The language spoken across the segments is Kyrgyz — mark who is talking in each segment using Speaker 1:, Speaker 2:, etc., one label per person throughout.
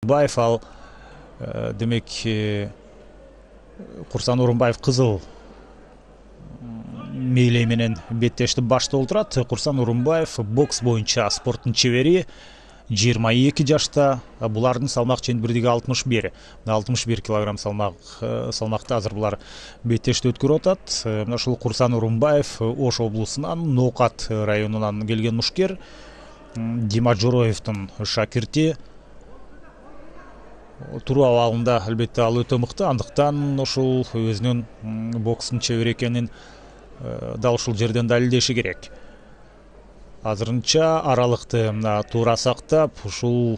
Speaker 1: Орунбаев ал демек Курсан Орунбаев кызыл мээлей менен беттешти баштап отурат. Курсан Орунбаев бокс боюнча спорттун чебери, 22 жашта. Булардын салмак чендирдиги 61. 61 килограмм салмакта азыр булар беттешти өткөрүп атат. Мына ушул Курсан Орунбаев Ош облусунан, Ноокат районунан келген мушкер. Дима Жороевдун шакирти. Туруу абалында албетте ал өтө мыкты, андыктан ушул өзүнүн бокстун чебери экенин дал ушул жерден далилдеши керек. Азырынча аралыкты туура сактап, ушул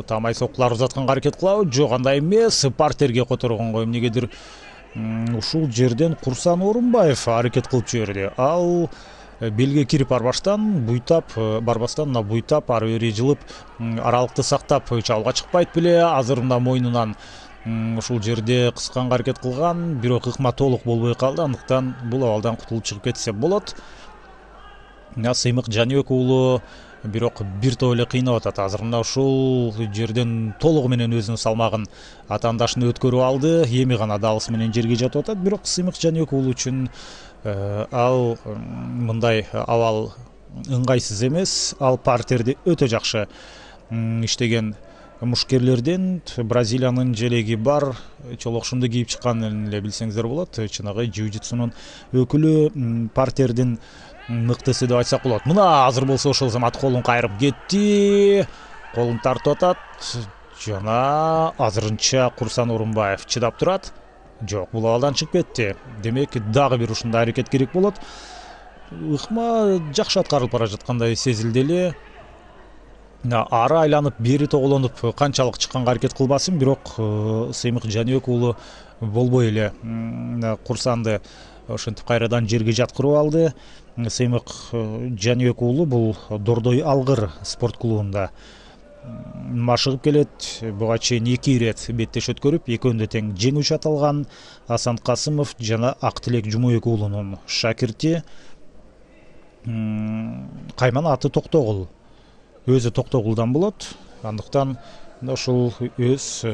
Speaker 1: тамай соккулар узатканга аракет кылабы? Жок, андай эмес. Партерге которгонго эмнегедир ушул жерден Курсан Орунбаев аракет кылып жиберди. Ал белге кирип барбастан буйтап ары бери жылып, аралыкты сактап чабуулга чыкпайт беле. Азыр мына мойнунан ушул жерде кысканга аракет кылган, бирок ыкма толук болбой калды. Андыктан бул абалдан кутулуп чыгып кетсе болот. Сыймык Жаныбек уулу бирок бир топ эле кыйнап атат. Азыр мына ушул жерден толугу менен өзүнүн салмагын атаандашына өткөрүп алды. Эми гана дабысы менен жерге жатып атат. Бирок Сыймык Жаныбек уулу үчүн ал мындай абал ыңгайсыз эмес. Ал партерди өтө жакшы иштеген мушкерлерден. Бразилиянын желеги бар чолокшумду кийип чыкканын эле билсеңиздер болот. Чыныгы jiu-jitsu'нун өкүлү, партердин мыктысы деп айтсак болот. Мына азыр болсо ошол замат колун кайрып кетти. Колун тартып атат. Жана азырынча Курсан Орунбаев чыдап турат. Жок, бул абалдан чыгып кетти. Демек дагы бир ушундай аракет керек болот. Ыкма жакшы аткарылып бара жаткандай сезилди эле. Ары айланып, бери тоголонуп канчалык чыкканга аракет кылбасын, бирок Сыймык Жаныбек уулу болбой эле Курсанды ошентип кайрадан жерге жаткырып алды. Сыймык Жаныбек уулу бул Дордой Алгыр спорт клубунда машыгып келет. Буга чейин 2 ирет беттеш өткөрүп, экөөнүндө тең жеңүүчү аталган. Асан Касымов жана Актилек Жумабек уулунун шакирти. Кайман аты Токтогул. Өзү Токтогулдан болот. Андыктан ушул өз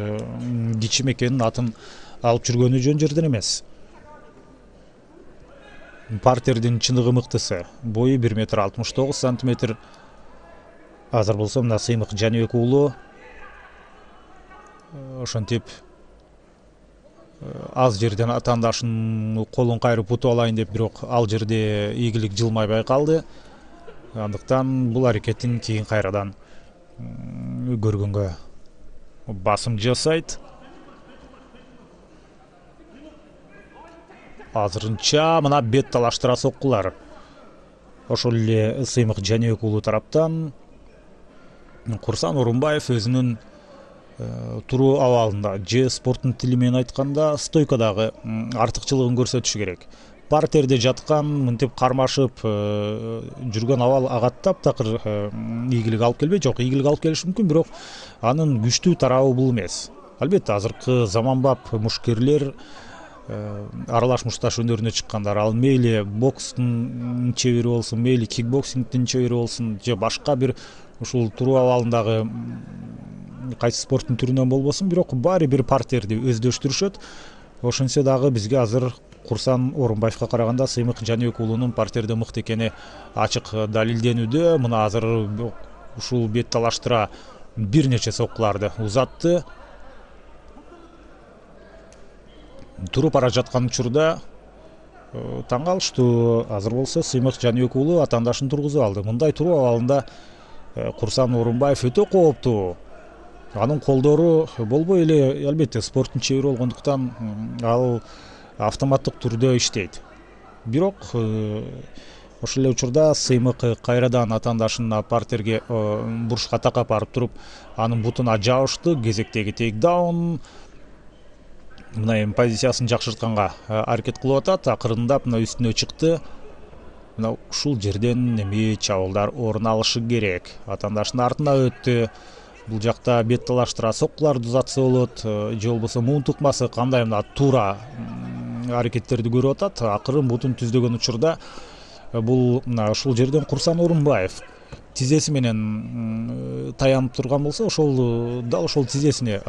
Speaker 1: кичим экенин атын алып жүргөнү жөн жерден эмес. Партердин чыныгы мыктысы. Бою 1,69 метр. Азыр болсо мына Сыймык Жаныбек уулу ошентип аз жерден атаандашынын колун кайрып утуп алайын деп, бирок ал жерде ийгилик жылмай байкалды. Андыктан бул аракетин кийин кайрадан көргөнгө басым жасайт. Азырынча мына бет талаштыра соккулар. Ошол эле Сыймык Жаныбек уулу тараптан Курсан Орунбаев өзүнүн туруу абалында, же спорттун тили менен айтканда стойкадагы артыкчылыгын көрсөтүшү керек. Партерде жаткан, мынтип кармашып жүргөн абал ага таптакыр ийгилик алып келбейт. Жок, ийгилик алып келиши мүмкүн, бирок анын күчтүү тарабы бул эмес. Албетте азыркы заманбап мушкерлер, аралаш мушташ өнөрүнө чыккандар, ал мейли бокстун чебери болсун, мейли кикбоксингдин чебери болсун, же башка бир ушул туруу абалындагы кайсы спорттун түрүнөн болбосун, бирок баары бир партерди өздөштүрүшөт. Ошентсе дагы бизге азыр Курсан Орунбаевка караганда Сыймык Жаныбек уулунун партерде мыкты экени ачык далилденүүдө. Мына азыр ушул бет талаштыра бир нече соккуларды узатты. Туруп бара жаткан учурда таң калыштуу. Азыр болсо Сыймык Жаныбек уулу атаандашын тургузуп алды. Мындай туруу абалында Курсан Орунбаев өтө кооптуу. Анын колдору болбой эле, албетте спорттун чебери болгондуктан ал автоматтык түрдө иштейт. Бирок ошол эле учурда Сыймык кайрадан атаандашына партерге бурушка такап барып туруп, анын бутуна жабышты. Кезектеги тейкдаун. Мына эми позициясын жакшыртканга аракет кылып атат. Акырындап мына үстүнө чыкты. Мына ушул жерден эми чабуулдар орун алышы керек. Атаандашынын артына өттү. Бул жакта бет талаштыра соккуларды узатса болот, же болбосо муун тукмасы кандай мына туура аракеттерди көрүп атат. Акырын бутун түздөгөн учурда бул мына ушул жерден Курсан Орунбаев тизеси менен таянып турган болсо, ошол дал ошол тизесине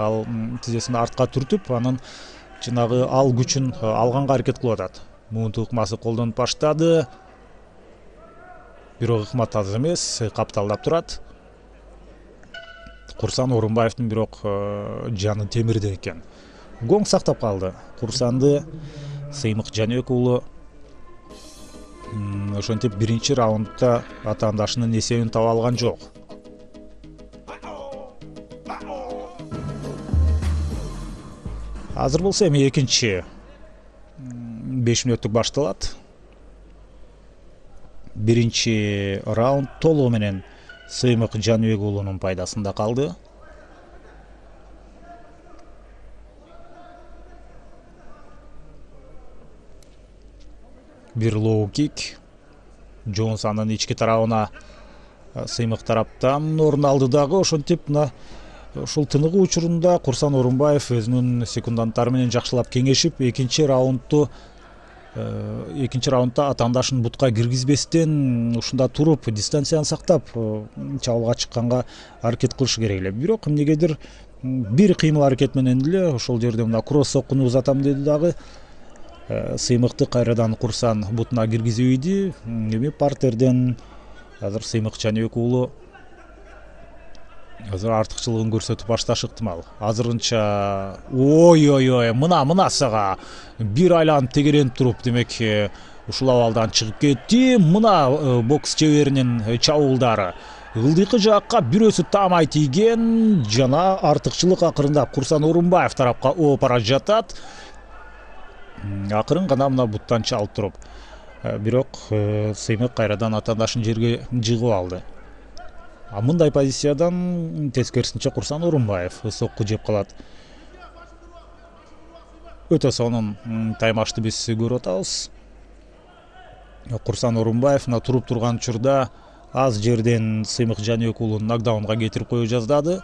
Speaker 1: тизесин артка түртүп, анан жанагы ал күчүн алганга аракет кылып атат. Муунтук ыкмасы колдонуп баштады. Бирок ыкма таза эмес, капталдап турат. Курсан Орунбаевдин бирок жаны темирде экен. Гоң сактап калды. Курсанды Сыймык Жаныбек уулу ошентип биринчи раундда атаандашынын эсебин таба алган жок. Азыр болсо эми экинчи 5 мүнөттүк башталат. Биринчи раунд толугу менен Сыймык Жаныбек уулунун пайдасында калды. Бир лоу кик Джонсонун ички тарабына Сыймык тараптан орун алды дагы. Ошентип ушул тыныгуу учурунда Курсан Орунбаев өзүнүн секунданттары менен жакшылап кеңешип, экинчи раундда атаандашын бутка киргизбестен ушунда туруп, дистанцияны сактап чабуулга чыкканга аракет кылышы керек эле. Бирок эмнегедир бир кыймыл аракет менен эле ошол жерде мына кросс соккуну узатам деди дагы. Сыймыкты кайрадан Курсан бутуна киргизип ийди. Эми партерден азыр Сыймык Жаныбек уулу азыр артыкчылыгын көрсөтүп башташы ыктымал. Азырынча ой, мына сага бир айланып тегеренип туруп, демек ушул абалдан чыгып кетти. Мына бокс чеберинин чабуулдары ылдыйкы жакка бирөөсү таамай тийген, жана артыкчылык акырындап Курсан Орунбаев тарапка ооп бара жатат. Акырын гана мына буттан чалып туруп, бирок Сыймык кайрадан атаандашын жерге жыгып алды. Мындай позициядан тескерисинче Курсан Орунбаев сокку жеп калат. Өтө сонун таймашты биз көрүп атабыз. Курсан Орунбаев туруп турган учурда аз жерден Сыймык Жаныбек уулун нокдаунга кетирип кое жаздады.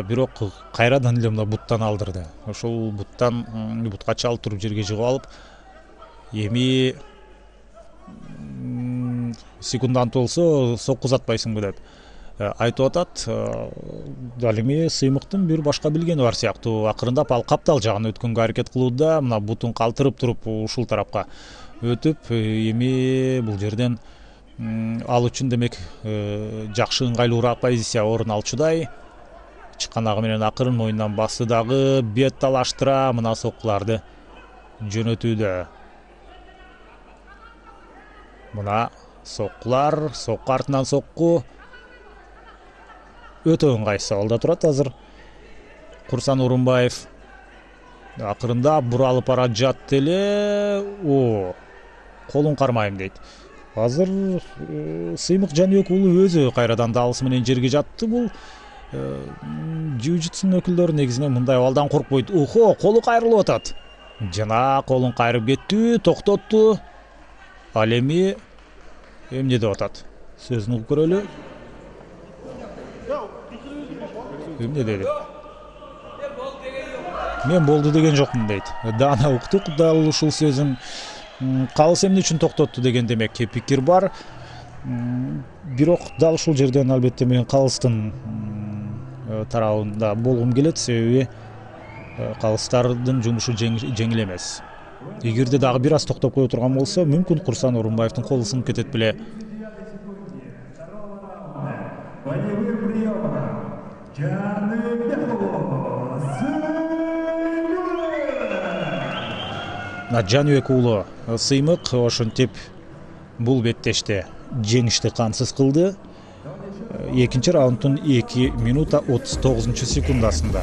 Speaker 1: Бирок кайрадан эле мына буттан алдырды. Ошол бутка чалып туруп жерге жыгып алып, эми секундант болсо сокку узатпайсыңбы деп айтып атат. Ал эми Сыймыктын бир башка билгени бар сыяктуу. Акырындап ал каптал жагына өткөнгө аракет кылууда. Мына бутун калтырып туруп ушул тарапка өтүп, эми бул жерден ал үчүн демек жакшы ыңгайлуураак позиция орун алчудай. Чыкканагы менен акырын моюндан басты дагы, бет талаштыра мына соккуларды жөнөтүүдө. Мына соккулар, сокку артынан сокку өтө ыңгайсыз абалда турат азыр. Курсан Орунбаев акырындап буралып бара жатты эле. Колун кармайм дейт. Азыр Сыймык Жаныбек уулу өзү кайрадан далысы менен жерге жатты. Бул jiu-jitsu өкүлдөрү негизинен мындай абалдан коркпойт. Колу кайрылып атат. Жана колун кайрып кетти, токтотту. Ал эми эмне деп атат? Сөзүн угуп көрөлү. Эмне деди? Мен болду деген жокмун дейт. Даана уктук, дал ушул сөзүн калыс эмне үчүн токтотту деген демек пикир бар. Бирок дал ушул жерден албетте мен калыстын тарабында болгум келет, себеби калыстардын жумушу жеңил эмес. Эгерде дагы бир аз токтоп кое турган болсо, мүмкүн Курсан Орунбаевдин колу сынып кетет беле. Жаныбек уулу Сыймык ошентип бул беттеште жеңишти камсыз кылды. Экинчи раунддун 2 минута 39 секундасында.